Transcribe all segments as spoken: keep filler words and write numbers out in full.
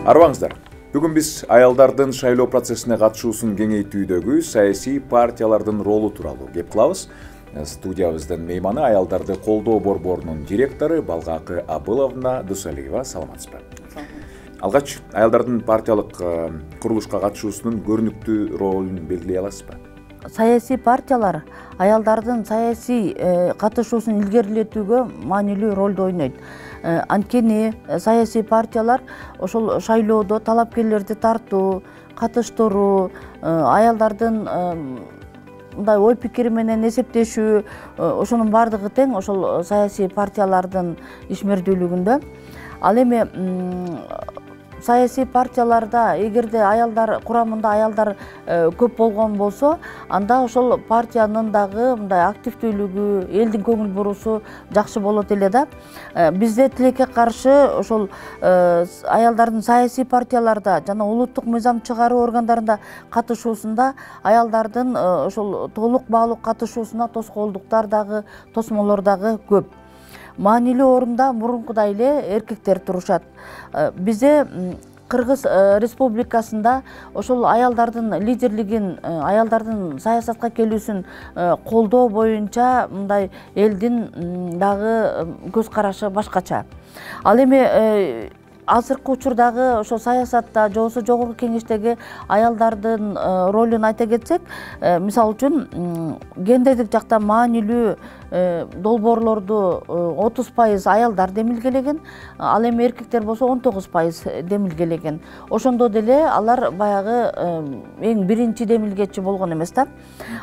Арбаңыздар. Бүгүн биз аялдардын шайлоо процессине катышуусун кеңейтүүдөгү саясий партиялардын ролу тууралуу кеп кылабыз. Студиябыздын мейманы аялдарды колдоо борборунун директору Балгакы Абыловна Дусалиева. Саламатсызбы? Алгач аялдардын партиялык курулушка катышуусунун көрүнүктүү ролун белгилей аласызбы? Саясий партиялар аялдардын саясий катышуусун илгерилетүүгө маанилүү ролду ойнойт. Анткени саясий партиялар ошол шайлоодо талапкерлерди тартуу, катыштыруу, аялдардын мындай ой пикири менен эсептешүү, ошонун баардыгы тең ошол саясий партиялардын ишмердүүлүгүндө. Ал эми саясий партияларда эгерде аялдар курамында аялдар көп болгон болсо, анда ошол партиянын дагы мындай активдүүлүгү, элдин көңүл буруусу жакшы болот эле да. Бизде тилекке каршы ошол аялдардын саясий партияларда жана улуттук мыйзам чыгаруу органдарында катышуусунда аялдардын ошол толук баалуу катышуусуна тоскоолдуктар дагы, тосмолор дагы көп. Маанилүү орунда мурункудай эле эркектер турушат. Бизде Кыргыз Республикасында ошол аялдардын лидерлигин, аялдардын саясатка келүүсүн колдоо боюнча мындай элдин дагы көз карашы башкача. Ал эми азыркы учурдагы ошо саясатта же болбосо жогорку кеңештеги аялдардын ролун айта кетсек, мисалы үчүн гендердик жакта маанилүү долбоорлорду отуз пайыз аялдар демилгелеген, ал эми эркектер болсо он тогуз пайыз демилгелеген. Ошондо деле алар баягы эң биринчи демилгечи болгон эмес да.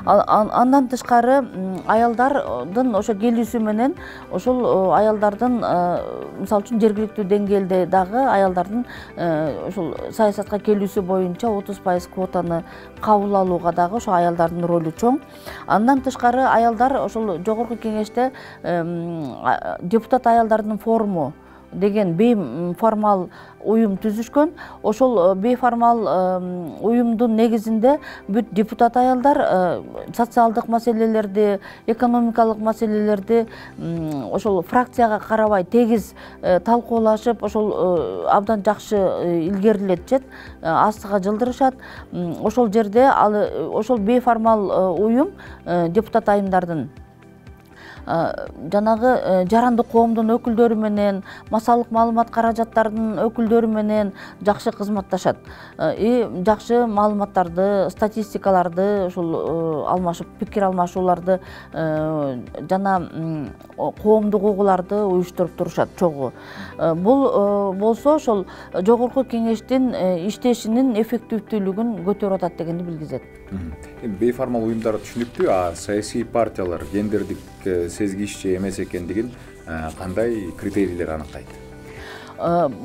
Андан тышкары аялдардын ошо келүүсү менен ошол аялдардын мисалы үчүн жергиликтүү деңгээлде дагы аялдардын ошол саясатка келүүсү боюнча отуз пайыз квотаны кабыл алууга дагы ошо аялдардын ролу чоң. Андан тышкары аялдар ошол жогорку кеңеште депутат аялдардын форуму деген бейформал уюм түзүшкөн. Ошол бейформал уюмдун негизинде бүт депутат аялдар социалдык маселелерди, экономикалык маселелерди ошол фракцияга карабай тегиз талкуулашып, ошол абдан жакшы илгерилетишет, астыга жылдырышат. Ошол жерде ал ошол бейформал уюм депутат айымдардын жанагы жарандык коомдун өкүлдөрү менен, массалык маалымат каражаттарынын өкүлдөрү менен жакшы кызматташат. И жакшы маалыматтарды, статистикаларды ошол алмашып, пикир алмашууларды жана коомдук угууларды уюштуруп турушат чогуу. Бул болсо ошол жогорку кеңештин иштешинин эффективдүүлүгүн көтөрүп атат дегенди билгизет. Бейформал уюмдар түшүнүктүү, а саясий партиялар гендердик сезгичтүү эмес экендигин кандай критерийлер аныкайт?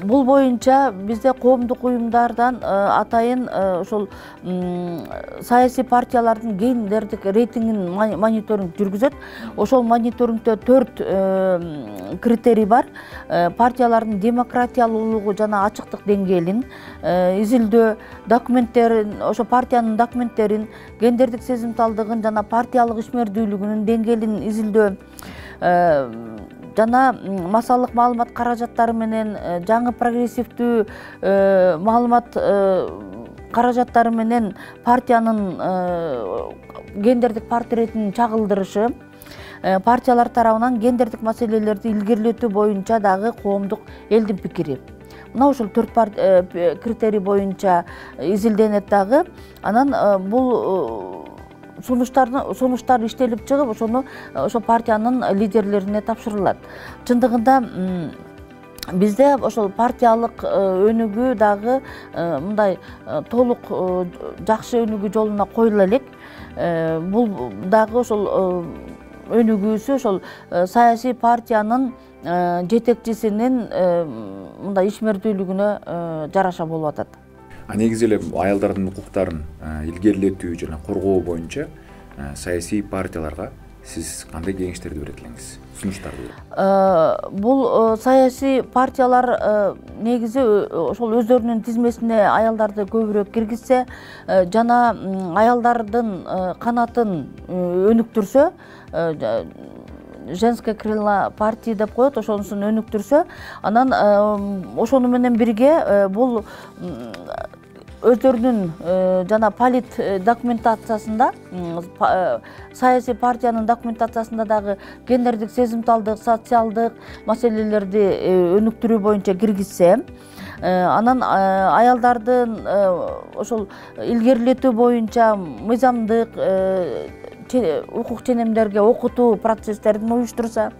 Бул боюнча бизде коомдук уюмдардан атайын ошол саясий партиялардын гендердик рейтингин мониторинг жүргүзөт. Ошол мониторингде төрт критерий бар. Партиялардын демократиялуулугу жана ачыктык деңгээлин изилдөө, документтерин, ошо партиянын документтерин, гендердик сезимталдыгын жана партиялык ишмердүүлүгүнүн деңгээлин изилдөө, жана массалык маалымат каражаттары менен жаңы прогрессивдүү маалымат каражаттары менен партиянын гендердик портретин чагылдырышы, партиялар тарабынан гендердик маселелерди илгерилетүү боюнча дагы коомдук элдин пикири. Мына ошол төрт критерий боюнча изилденет дагы. Анан бул сунуштар иштелип чыгып, ошону ошо партиянын лидерлерине тапшырылат. Чындыгында бизде ошол партиялык өнүгүү дагы мындай толук жакшы өнүгүү жолуна коюла элек. Бул дагы ошол өнүгүүсү ошол саясий партиянын жетекчисинин мындай ишмердүүлүгүнө жараша болуп атат. А негизи эле аялдардын укуктарын илгерилетүү жана коргоо боюнча саясий партияларга сиз кандай кеңештерди берет элеңиз, сунуштарды берет? Бул саясий партиялар негизи ошол өздөрүнүн тизмесине аялдарды көбүрөөк киргизсе жана аялдардын канатын өнүктүрсө, женское крыло партии деп коет, ошонусун өнүктүрсө, анан ошону менен бирге бул өздөрүнүн жана полит документациясында, саясий партиянын документациясында дагы гендердик сезимталдык, социалдык маселелерди өнүктүрүү боюнча киргизсе, анан аялдардын ошол илгерилетүү боюнча мыйзамдык укук ченемдерге окутуу процесстерин уюштурса,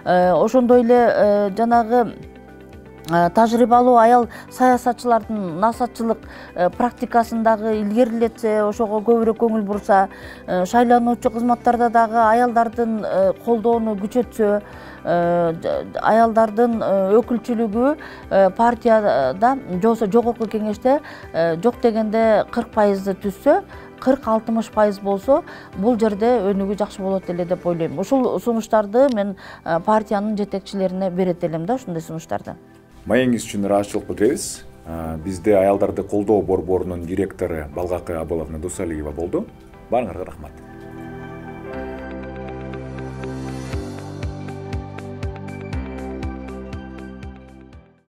ошондой эле жанагы тажрыйбалуу аял саясатчылардын насаатчылык практикасын дагы илгерилетсе, ошого көбүрөөк көңүл бурса, шайлануучу кызматтарда дагы аялдардын колдоону күчөтсө, аялдардын өкүлчүлүгү партияда же болбосо жогорку кеңеште жок дегенде кырк пайызды түзсө, кырк алтымыш пайыз болсо, бул жерде өнүгүү жакшы болот эле деп ойлойм. Ушул сунуштарды мен партиянын жетекчилерине берет элем да, ушундай сунуштарды. Маегиңиз үчүн ыраазычылык билдиребиз. Бизде аялдарды колдоо борборунун директору Балгакы Абыловна Дусалиева болду. Баарыңарга рахмат.